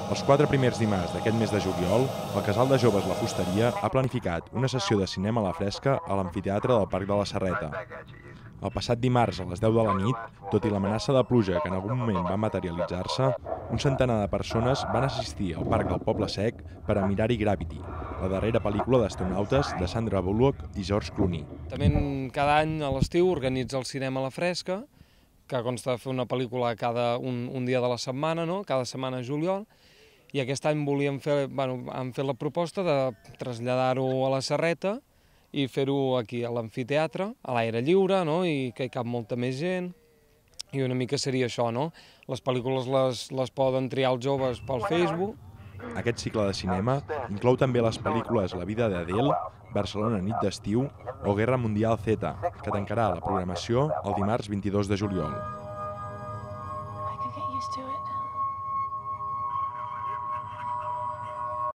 Els 4 primers dimarts d'aquest mes de juliol, el Casal de Joves La Fusteria ha planificat una sessió de cinema a la fresca a l'amfiteatre del Parc de la Serreta. El passat dimarts a les 10 de la nit, tot i l'amenaça de pluja que en algun moment va materialitzar-se, un centenar de persones van assistir al Parc del Poble Sec per a mirar-hi Gravity, la darrera pel·lícula d'astronautes de Sandra Bullock i George Clooney. També cada any a l'estiu organitza el cinema a la fresca, que consta de fer una pel·lícula un dia de la setmana, no? Cada setmana a juliol, i aquest any han fet la proposta de traslladar-ho a la Serreta i fer-ho aquí a l'amfiteatre, a l'aire lliure, no? I que hi cap molta més gent, i una mica seria això, no? Les pel·lícules les poden triar els joves pel Facebook. Aquest cicle de cinema inclou també les pel·lícules La vida d'Adele, Barcelona nit d'estiu o Guerra Mundial Z, que tancarà la programació el dimarts 22 de juliol. I could get used to it.